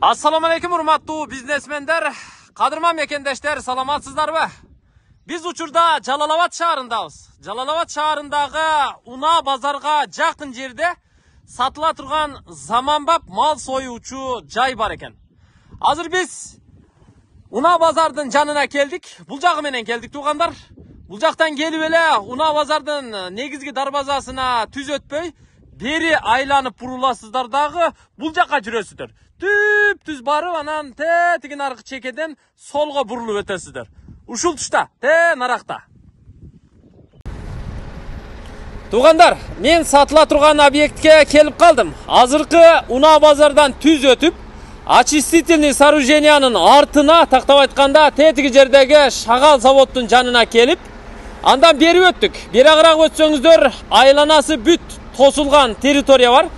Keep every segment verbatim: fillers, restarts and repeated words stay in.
Assalamu alaikum урматтуу бизнесмендер, кадырман мекендештер, саламатсыздарбы? Биз учурда Жалалабад шаарындабыз. Жалалабад шаарындагы Уна базарга жакын жерде сатыла турган заманбап мал союучу жай бар экен. Азыр биз Уна базардын жанына келдик. Бул жагы менен келдик туугандар. Бул жактан келип эле Уна базардын негизги дарбазасына түз өтпөй, бери айланып буруласыздар дагы бул жакка жүрөсүздөр. Түп түз барып, анан те тигин аркы чекеден солго бурулуп өтөсүздөр. Ушул тушта, те наракта. Туугандар, мен сатыла турган объектке келип калдым. Азыркы Уна базардан түз өтүп, очистительный сооружениянын артына, тактап айтканда, те тиги жердеги шагал заводдун жанына келип, андан бери өттүк. Бери агыраак өтсөңүздөр, айланасы бүт тосулган территория бар.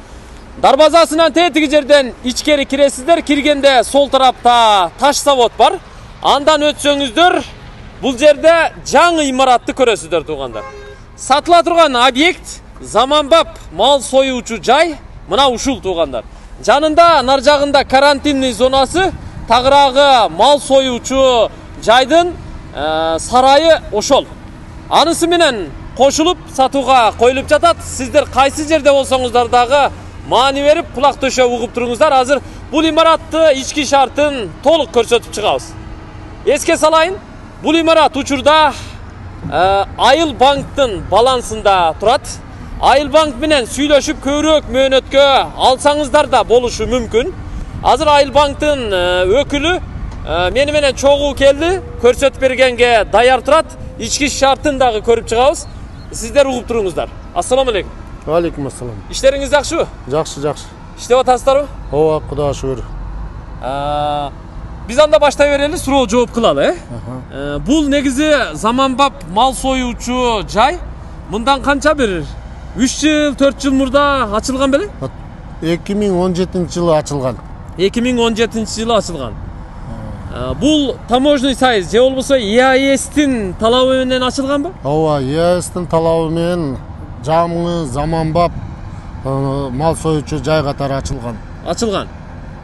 Дарбазасынан те тиги жерден ичкери киресиздер. Киргенде сол тарапта таш завод бар. Андан өтсөңүздөр, бул жерде жаңы имаратты көрөсүздөр туугандар. Сатыла турган объект заманбап мал союучу жай мына ушул туугандар. Жанында нар жагында карантинный зонасы, тагыраагы мал союучу жайдын ә, сарайы ошол. Анысы менен кошулуп сатууга коюлуп жатат. Сиздер кайсы жерде болсоңуздар дагы маани берип, кулак төшөп угуп туруңуздар. Азыр бул имаратты ички шартын толук көрсөтүп чыгабыз. Эске салайын, бул имарат учурда ә, Айыл банктын балансында турат. Айыл банк менен сүйлөшүп көбүрөөк мөөнөткө алсаңыздар да болушу мүмкүн. Азыр Айыл банктын ә, өкүлү ә, мени менен чогуу келди, көрсөтүп бергенге даяр турат. Ички шартын дагы көрүп чыгабыз. Сиздер угуп туруңуздар. Ассаламу алейкум. Алейкум ассалам. Иштериңиз жакшыбы? Жакшы, жакшы. Иштеп атасыздарбы? Ооба, Кудайга шүгүр. Биз анда баштай берели, суроо жооп кылалы, э? Бул негизи заманбап мал союучу жай. Мындан канча бир үч жыл, төрт жыл мурда ачылган беле? эки миң он жетинчи жылы ачылган. эки миң он жетинчи жылы ачылган. Бул таможный союз же болбосо и а эстин талабы менен ачылганбы? Ооба, и а эстин талабы менен жаңы заманбап мал союучу жай катары ачылган. Ачылган.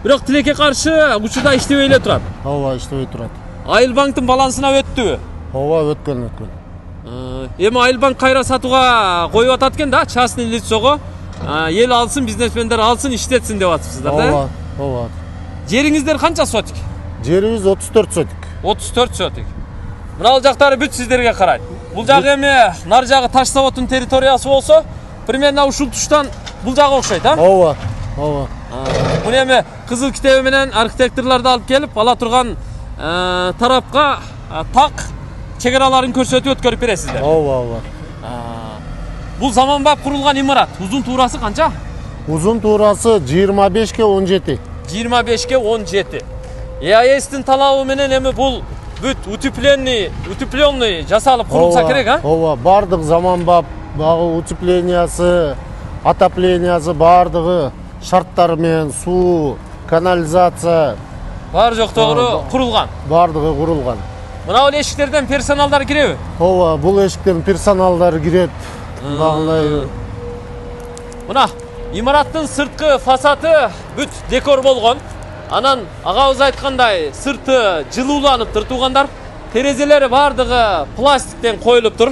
Бирок тилекке каршы учурда иштебей эле турат. Ооба, иштебей турат. Айыл банктын балансына өттүбү? Ооба, өткөн, өткөн. Эми Айыл банк кайра сатууга коюп атат экен да, частный лицого. Эл алсын, бизнесмендер алсын, иштетсин деп атыпсыздар да? Ооба, ооба. Жериңиздер канча сотик? Жерибиз отуз төрт сотик. отуз төрт сотик. Мына жактары бүт сиздерге карайт. Бул жагы эми нар жагы таш заводдун территориясы болсо, примерно ушул туштан бул жагы окшойт, а? Ооба, ооба. Муну эми кызыл китеби менен архитекторлорду алып келип, ала турган тарапка так чегераларын көрсөтүп өткөрүп бересиздер. Ооба, ооба. Бул заманбап курулган имарат. Узун туурасы канча? Узун туурасы жыйырма бешке он жети. жыйырма бешке он жети. и а эстин талабы менен эми бул бүт утепленный, утепленный жасалып курулса керек, а? Ооба, бардык заманбап, багы утеплениясы, отоплениясы бардыгы шарттары менен суу, канализация баары жоктогу курулган. Бардыгы курулган. Мына бул эшиктерден персоналдар киреби? Ооба, бул эшиктерден персоналдар кирет. Багындай. Мына имараттын сырткы фасады бүт декор болгон. Анан агабыз айткандай сырты жылууланып тур туугандар. Терезелери бардыгы пластиктен коюлуп тур.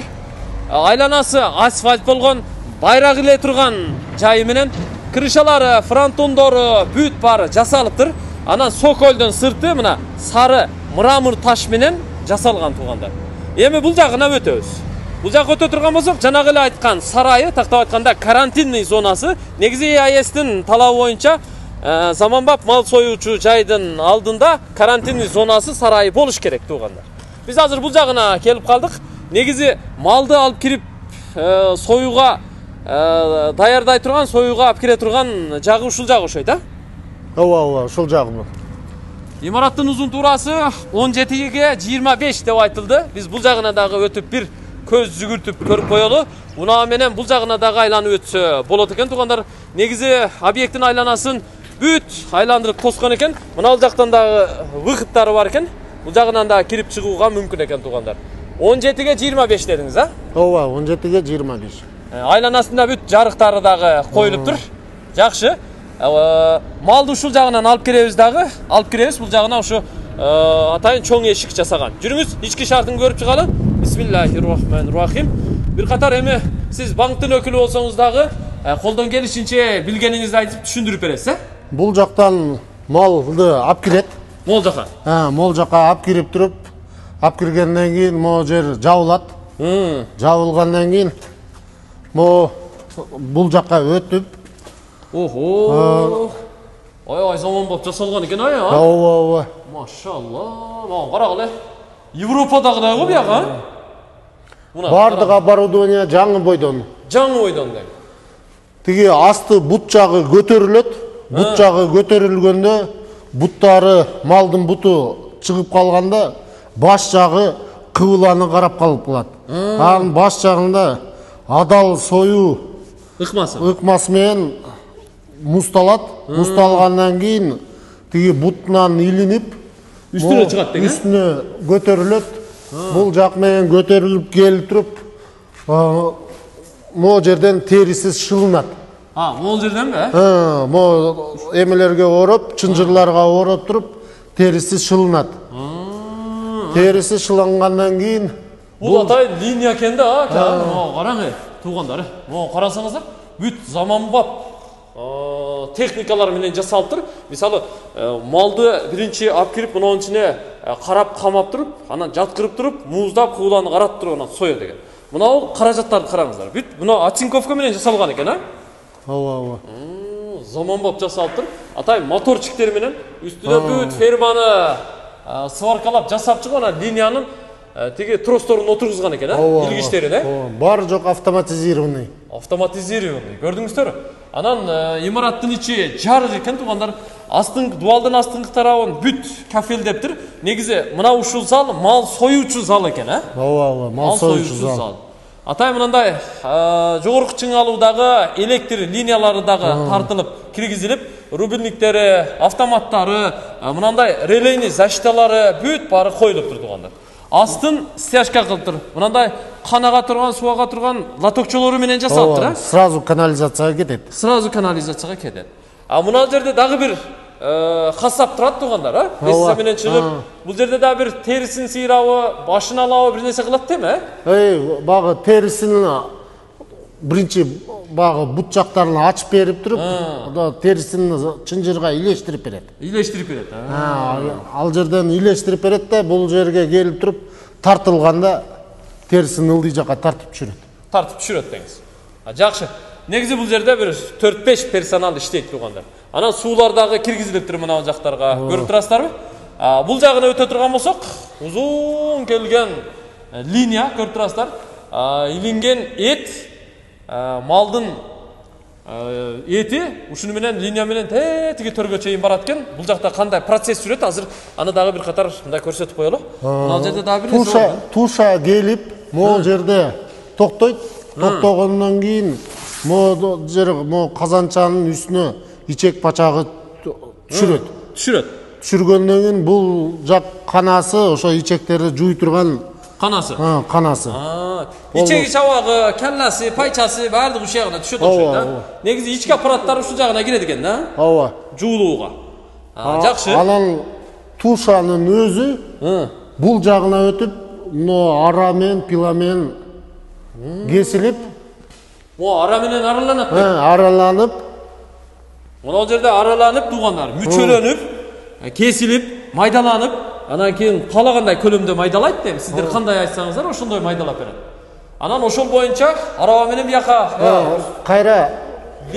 Айланасы асфальт болгон, байрак иле турган жайы менен крышалары, фронтондору бүт баары жасалып тур. Анан соколдун сырты мына сары мрамор таш менен жасалган туугандар. Эми бул жагына өтөбүз. Бул жакка өтө турган болсок, жанагы эле айткан сарайы, тактап айтканда карантинный зонасы, негизи и а эстин талабы боюнча заманбап мал союучу жайдын алдында карантинный зонасы сарайы болуш керек туугандар. Биз азыр бул жагына келип калдык. Негизи малды алып кирип союга даярдай турган, союга алып кире турган жагы ушул жагы окшойт, а? Ооба, ооба, ушул жагы. Имараттын узун туурасы он жетиге жыйырма беш деп айтылды. Биз бул жагына дагы өтүп бир көз жүгүртүп көрүп коелу. Уна менен бул жагына дагы айланып өтсө болот экен туугандар. Негизи объекттин айланасын бүт айландырып тоскон экен. Мына бул жактан дагы выходтары бар экен. Бул жагынан да кирип чыгууга мүмкүн экен туугандар. он жетиге жыйырма беш дедиңиз, а? Ооба, он жетиге жыйырма беш. Айланасында бүт жарыктары дагы коюлуп тур. Жакшы. малды ушул жагынан алып киребиз дагы. Алып киребиз бул жагына ушу атайын чоң эшик жасаган. Жүрүңүз, ички шартын көрүп чыгалы. Бисмиллахиррахманиррахим. Бир катар эми сиз банктын өкүлү болсоңуз дагы колдон келишинче билгениңизди айтып түшүндүрүп бересиз, э? Бул жактан малды алып кирет. Мол жака. Ha, мол жака алып кирип туруп, алып киргенден кийин могу жер жабылат. Жабылгандан кийин могу бул жакка өтүп. Охо. Ой, заманбап жасалган экен, ай, а? Ооба, ооба. Машалла. Мага карагыла. Европадагыдай го бияга. Бардык оборудование жаңы бойдон. Жаңы бойдон дейм. Тиги асты бут жагы көтөрүлөт. Бут жагы көтөрүлгөндө буттары, малдын буту чыгып калганда баш жагы кыбыланы карап калып калат. Анын баш жагында адал сою ыкмасы. Ыкмасы менен муздалат. Муздалгандан кийин тиги бутунан илинип үстүнө чыгат деген. Үстүнө көтөрүлөт. Бул жак менен көтөрүлүп келип туруп, могу жерден териси шылынат. А, могу жерден бе? Ha, могу эмелерге ороп, чынжырларга ороп туруп, териси шылынат. Териси шылангандан кийин бул атайын линия экен да, а? Могу караңыз, туугандар. Могу карасаңыздар, бүт заманбап техникалар менен жасалып тур. Мисалы, малды биринчи алып кирип, мунун ичине карап камап туруп, анан жаткырып туруп, муздап, кууланы каратып туруп, анан соё деген. Мына бул каражаттарды караңыздар. Бүт мына оцинковка менен жасалган экен, а? Ооба, ооба. Заманбап жасалып тур. Атайын моторчиктер менен үстүнө бүт ферманы сваркалап жасап чыгып, анан линиянын тиги тросторун отургузган экен, а? Илгичтерин, э? Баары жок автоматизированный. Автоматизированный. Көрдүңүздөр? Анан имараттын ичи жарык экен, туугандар. Астын дуалдын астыңкы тарабын бүт кафелдептир. Негизи мына ушул зал мал союучу зал экен, э? Ооба, ооба, мал союучу зал. Атай мындай жогорку чыңалуудагы электр линиялары дагы тартылып, киргизилип, рубильниктери, автоматтары, мындай релейный защиталары бүт баары коюлуп тур, туугандар. Астын стяжка кылып тур. Мындай канага турган, суага турган лотокчолору менен жасалып тур, э? Сразу канализацияга кетет. Сразу канализацияга кетет. А мына жерде дагы бир касап турат, туугандар, а? Эссе менен чыгып, бул жерде дагы бир терисин сыйрабы, башын алабы бир нерсе кылат деме, э? Эй, багы терисин биринчи багы бут жактарын ачып берип туруп, терисин чынжырга илештирип берет. Илештирип берет, а? Ал жерден илештирип берет да, бул жерге келип туруп, тартылганда терисин ылдый жакка тартып түшүрөт. Тартып түшүрөт деңиз. А жакшы. Негизи бул жерде бир төрт беш персонал иштейт, туугандар. Анан суулар дагы киргизилип тур мына жактарга. Көрүп турасыздарбы? Бул жагына өтө турган болсок, узун келген линия көрүп турасыздар. Илинген эт, малдын эти ушуну менен линия менен тетиги төргө чейин барат экен. Бул жакта кандай процесс жүрөт, азыр аны дагы бир катар мындай көрсөтүп коелу. Мына жерде дагы бир туша туша келип, могу жерде токтойт. Токтогондон кийин могу жер могу казанчанын үстүнө ичек пачагы түшүрөт. Түшүрөт. Түшүргөндөн кийин бул жак канасы, ошо ичектерди жууй турган канасы. Ha, канасы. Ичеги чабагы, келласы, пайчасы баардыгы ушул жагына түшөт окшойт, да? Негизи ички аппараттар ушул жагына кирет экен, да? Ооба. Жуулууга. Жакшы. Анан тушанын өзү бул жагына өтүп, мына ара менен, пила менен кесилип, О, ара менен араланат. Араланып. Мына жерде араланып, туугандар, мүчөлөнүп, кесилип, майдаланып, анан кийин каалагандай көлөмдө майдалайт дейм. Сиздер кандай айтсаңыздар, ошондой майдалап берет. Анан ошол боюнча араба менен бияка кайра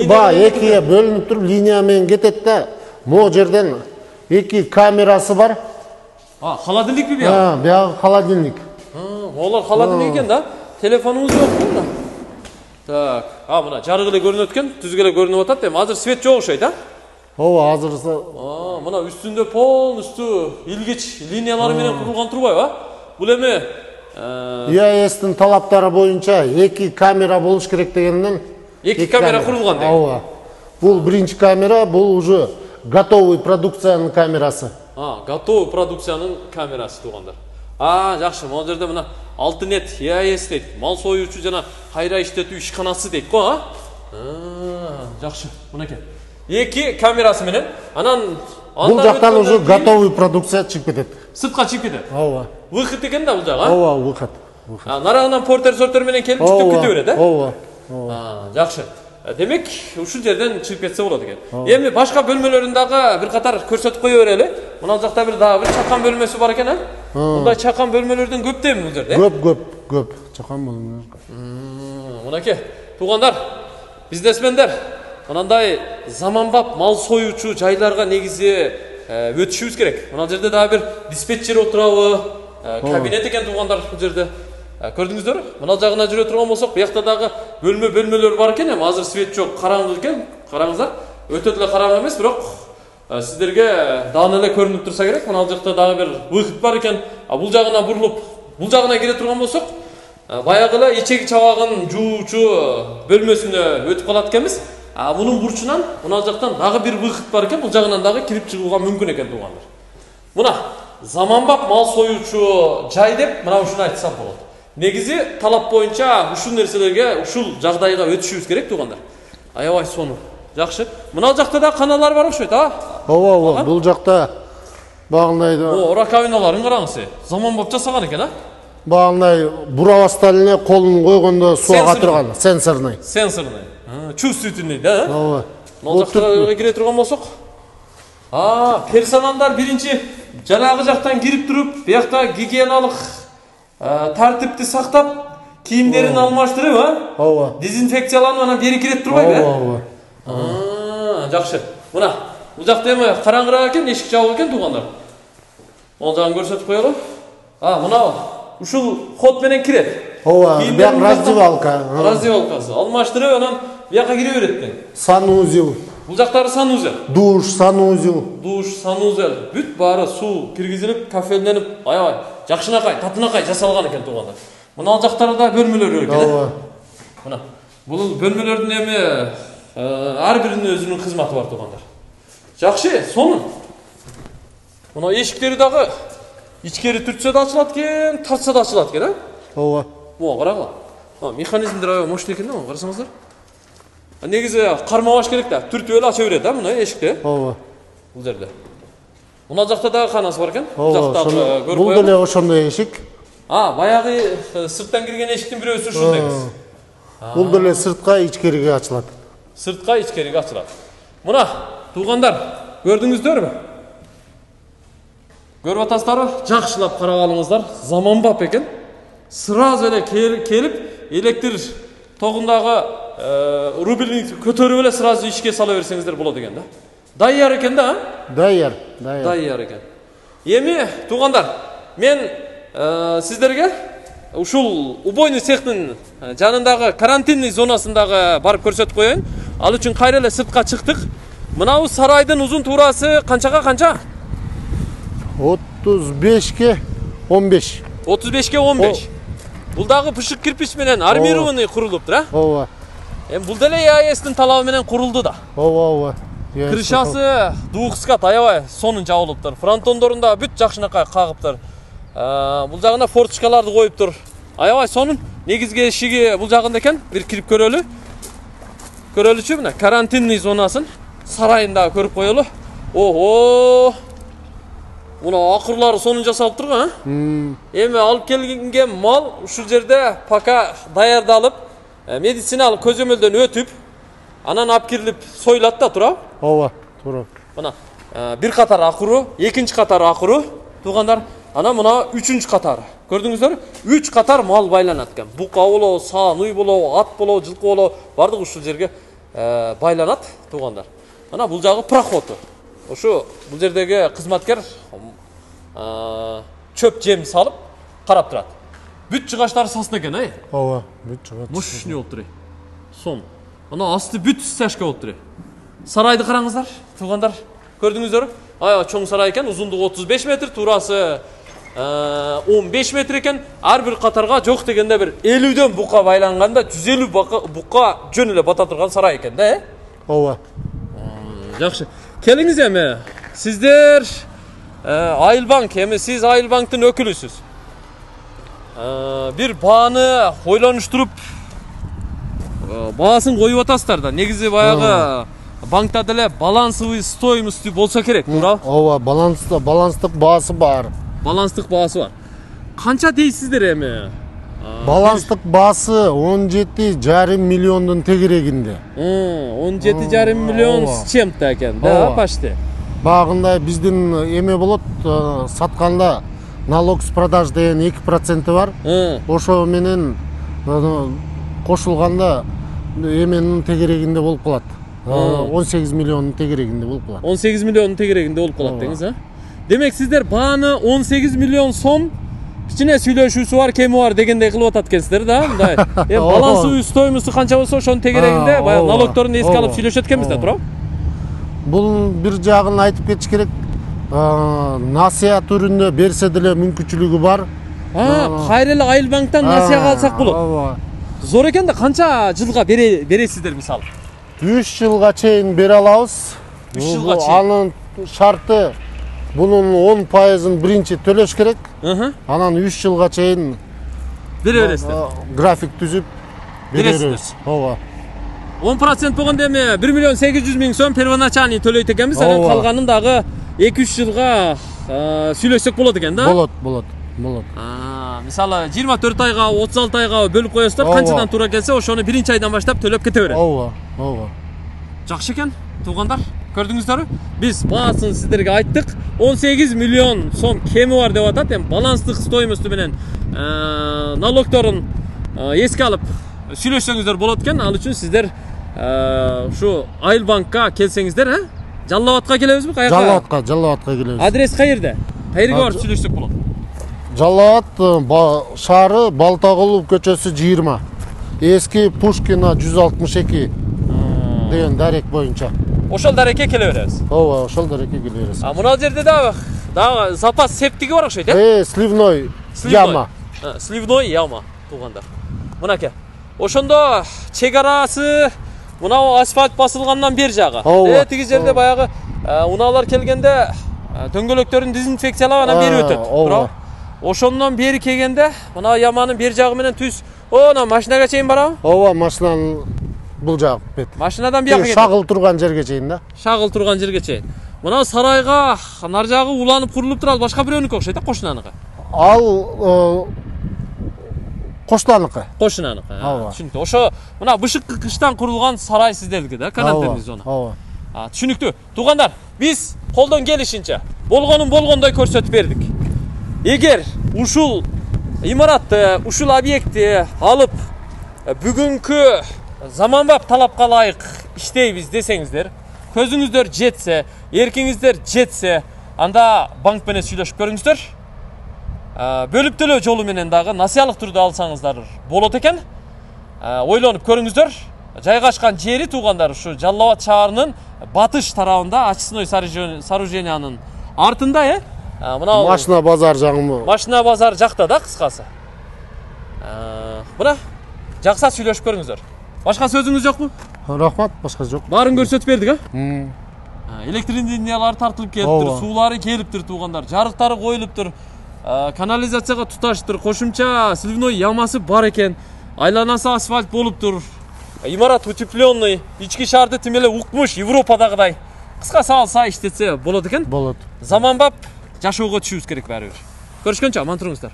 ба экиге бөлүнүп туруп, линия менен кетет да, могу жерден эки камерасы бар. А, холодильникпи бияка? Ha, бияка холодильник. Олар холодильник экен да? Телефонуңуз жокпу? Так, а мына жарык эле көрүнөт экен, түзгө эле көрүнүп атат дейм. Азыр свет жок окшойт, а? Ооба, азыр. А, мына үстүндө полностью илгич линиялары менен курулган турбайбы, а? Бул эми и эй эстин талаптары боюнча эки камера болуш керек дегенден эки камера курулган дейм. Ооба. Бул биринчи камера, бул уже готовый продукциянын камерасы. А, готовый продукциянын камерасы, туугандар. А, жакшы, могу жерде мына Алтынет и эй эс дейт. Мал союучу жана кайра иштетүү ишканасы дейт го, а? Жакшы, мынакей. эки камерасы менен. Анан бул жактан уже готовый продукция чыгып кетет. Сыртка чыгып кетет. Ооба. Выход экен да бул жак, а? Ооба, выход. Нарагынан портер-сортер менен келип жүктөп кете берет, э? Ооба. Ооба. Жакшы. Демек, ушул жерден чыгып кетсе болот экен. Эми башка бөлмөлөрүн дагы бир катар көрсөтүп кое берели. Мына жакта бир дагы бир чакан бөлмөсү бар экен, а? Мындай чакан бөлмөлөрдөн көптөбү бул жерде? Көп, көп, көп. Чакан бөлмөлөр. Мынакей, туугандар, бизнесмендер, мынандай заманбап мал союучу жайларга негизи өтүшүбүз керек. Мына жерде дагы бир диспетчер отурабы, кабинет экен туугандар бул жерде. Көрдүңүздөр? Мына жагына жүрө турган болсок, буякта дагы бөлмө-бөлмөлөр бар экен, эми азыр свет жок, караңгы экен. Караңыздар. Өтө эле караңгы эмес, бирок сиздерге даана эле көрүнүп турса керек. Мына жакта дагы бир выход бар экен. А бул жагына бурулуп, бул жагына кире турган болсок, баягы эле ичеги чабагын жуучу бөлмөсүнө өтүп калат экенбиз. А мунун бурчунан мына жактан дагы бир выход бар экен. Бул жагынан дагы кирип чыгууга мүмкүн экен туугандар. Мына заманбап мал союучу жай деп мына ушуну айтсам болот. Негизи талап боюнча ушул нерселерге, ушул жагдайга өтүшүбүз керек туугандар. Аябай сонун. Жакшы. Мына жакта да каналар бар окшойт, а? Ооба, ооба. Бул жакта багындай да. О, раковиналарын караңыз. Заманбап жасаган экен, а? Багындай бурабастан эле колун койгондо суу ага турган, сенсорный. Сенсорный. Чувствительный, да? Ооба. Мына жакта кире турган болсок. А, персоналдар биринчи жанагы жактан кирип туруп, буякта гигиеналык тартипти сактап, кийимдерин алмаштырып, а? Ооба. Дезинфекцияланып анан бери кире турбайбы? Ооба, ооба. Жакшы. Мына, бул жакта эми караңгыраак экен, эшик жабык экен туугандар. Ол жагын көрсөтүп коелу. А, мына ушул ход менен кирет. Ооба, бияк раздевалка. Раздевалкасы. Алмаштырып анан бияка кире берет экен. Санузел. Бул жактары санузел. Душ, санузел. Душ, санузел. Бүт баары суу киргизилип, кафелденип, аябай жакшынакай, татынакай жасалган экен туугандар. Мына ал жактарда бөлмөлөр экен. Ооба. Мына бул бөлмөлөрдүн эми ар биринин өзүнүн кызматы бар туугандар. Жакшы, сонун. Мына эшиктери дагы ичкери түртсө да ачылат экен, тартса да ачылат экен, а? Ооба. Могу карагыла. А, механизмдер аябай мощный экен да, карасаңыздар. Негизи кармабаш керек да, түртүп эле ача берет да, мына эшикти. Ооба. Бул жерде. Мына жакта дагы канасы бар экен. Бул жакта көрүп коелу. Бул деле ошондой эшик. А, баягы сырттан кирген эшиктин бирөөсү ушул негиз. Бул деле сыртка, ичкериге ачылат. Сыртка, ичкериге ачылат. Мына, туугандар, көрдүңүздөрбү? Көрүп атасыздарбы? Жакшылап карап алыңыздар. Заманбап экен. Сразу эле келип, электр тогундагы рубильник көтөрүп эле сразу ишке сала берсеңиздер болот экен да. Даяр экен да, а? Даяр, даяр. Даяр экен. Эми, туугандар, мен сиздерге ушул убойный цехтин жанындагы карантинный зонасындагы барып көрсөтүп коеюн. Ал үчүн кайра эле сыртка чыктык. Мынабу сарайдын узун туурасы канчага канча? отуз бешке он беш. отуз бешке он беш. Бул дагы пышык кирпич менен армированный курулуптур, а? Ооба. Эми бул деле ЯЭСтин талабы менен курулду да. Ооба, ооба. Крышасы двухскат аябай сонун жабылыптыр. Фронтондорун да бүт жакшынакай кагыптыр. Бул жагына форточкаларды коюптур. Аябай сонун. Негизги эшиги бул жагында экен. Бир кирип көрөлү. Көрөлүчү мына карантинный зонасын сарайында көрүп коелу. Ого! Мына акырлары сонун жасалып турган, а? Эми алып келген мал ушул жерде пока даярдалып, медициналык көзөмөлдөн өтүп, анан алып кирилип союлат да, туурабы? Ооба, туура. Мына бир катар акыруу, экинчи катар акыруу, туугандар. Анан мына үчүнчү катары. Көрдүңүздөр? үч катар мал байланат экен. Бука болобу, саан, уй болобу, ат болобу, жылкы болобу, бардыгы ушул жерге байланат, туугандар. Мына бул жагы проходу. Ошу бул жердеги кызматкер чөп жем салып карап турат. Бүт жыгачтары сасын экен, ай? Ооба, бүт жыгач. Мощный болуп тур. Сон. Ана асты бүт стяжка болуп тур. Сарайды караңыздар, туугандар. Көрдүңүздөрбү? Аябай чоң сарай экен, узундугу отуз беш метр, туурасы он беш метр экен. Ар бир катарга жок дегенде бир элүүдөн бука байланганда жүз элүү бука жөн эле бата турган сарай экен да, э? Ооба. Жакшы. Келиңиз эми. Сиздер Айылбанк, эми сиз Айылбанктын өкүлүсүз. Бир бааны ойлонуштуруп баасын коюп атасыздар да. Негизи баягы банкта деле балансовый стоимости болсо керек, туурабы? Ооба, баланста баланстык баасы бар. Баланстык баасы бар. Канча дейсиздер эми? Баланстык баасы он жети жарым миллиондун тегерегинде. он жети жарым миллион с чем-то экен, да, почти. Багында биздин эме болот, сатканда налог с продаж деген эки проценти бар. Ошо менен кошулганда эменин тегерегинде болуп калат. он сегиз миллиондун тегерегинде болуп калат. он сегиз миллиондун тегерегинде болуп калат деңиз, а? Демек сиздер бааны он сегиз миллион сом кичине сүйлөшүүсү бар, кеми бар дегендей кылып атат экенсиздер да, мындай. Эми балансовый стоимости канча болсо ошонун тегерегинде баягы налогторун эске алып сүйлөшөт экенбиз да, туурабы? Бул бир жагын айтып кетиш керек. Насыя түрүндө берсе деле мүмкүнчүлүгү бар. Кайра эле Айыл банктан насыяга алсак болот. Зор экен да, канча жылга бересиздер мисалы? үч жылга чейин бере алабыз. үч жылга чейин. Анын шарты бунун он пайызын биринчи төлөш керек. Анан үч жылга чейин бере бересиздер. График түзүп бере беребиз. Ооба. он процент болгондо эми бир миллион сегиз жүз миң сом первоначальный төлөйт экенбиз, анан калганын дагы эки үч жылга сүйлөшсөк болот экен да? Болот, болот, болот. Мисалы жыйырма төрт айга, отуз алты айга бөлүп коесуздар, канчадан туура келсе, ошону биринчи айдан баштап төлөп кете берет. Ооба, ооба. Жакшы экен, туугандар. Көрдүңүздөрбү? Биз баасын сиздерге айттык. он сегиз миллион сом кеми бар деп атат. Эми баланстык стоимости менен налогторун эске алып сүйлөшсөңүздөр болот экен. Ал үчүн сиздер ушу Айыл банкка келсеңиздер, а? Жалал абадка келебизби? Каяка? Жалал абадка, Жалал абадка келебиз. Адрес каерде? Каерге барып сүйлөшсөк болот? Жалал абад шаары, Балтагулов көчөсү жыйырма. Эски Пушкина жүз алтымыш эки деген дарек боюнча. Ошол дарекке келе беребиз. Ооба, ошол дарекке келе беребиз. А мына жерде дагы дагы запас септиги бар окшойт, э? Э, сливной яма. Сливной яма, туугандар. Мынакей. Ошондо чек арасы мынау асфальт басылгандан бери жагы. Э, тиги жерде баягы унаалар келгенде дөңгөлөктөрүн дезинфекциялап анан бери өтөт. Туурабы? Ошондон бери келгенде мына яманын бери жагы менен түз, о, машинага чейин барабы? Ооба, машинанын бул жак бет. Машинадан бияка кетет. Шагыл турган жерге чейин да. Шагыл турган жерге чейин. Мына сарайга нар жагы уланып курулуп турат, башка бирөөнүкү окшойт, а кошунаныкы. Ал кошунаныкы. Кошунаныкы. Түшүнүктүү. Ошо мына бышыкы кыштан курулган сарай сиздердики да, карантинный зона. Ооба. Түшүнүктүү. Туугандар, биз колдон келишинче болгонун болгондой көрсөтүп бердик. Эгер ушул имаратты, ушул объектти алып бүгүнкү заманбап талапка ылайык иштейбиз десеңиздер, көзүңүздөр жетсе, эркиңиздер жетсе, анда банк менен сүйлөшүп көрүңүздөр. Бөлүп төлөө жолу менен дагы насыялык түрдө алсаңыздар болот экен. Ойлонуп көрүңүздөр. Жайгашкан жери, туугандар, ушу Жалал абад шаарынын батыш тарабында, очистной сооружениянын артында, э? Мына машина базар жагы. Машина базар жакта да, кыскасы. Мына жакса сүйлөшүп көрүңүздөр. Башка сөзүңүз жокпу? Рахмат, башка жок. Баарын көрсөтүп бердик, а? Электр линиялары тартылып келиптир, суулары келиптир, туугандар, жарыктары коюлуптур, канализацияга туташтыр, кошумча сливной ямасы бар экен, айланасы асфальт болуптур, имарат утепленный, ички шаарды тим эле укмуш Европадагыдай. Кыскасы алса иштетсе болот экен. Болот. Заманбап жашоого түшүбүз керек баары бир. Көрүшкөнчө аман туруңуздар.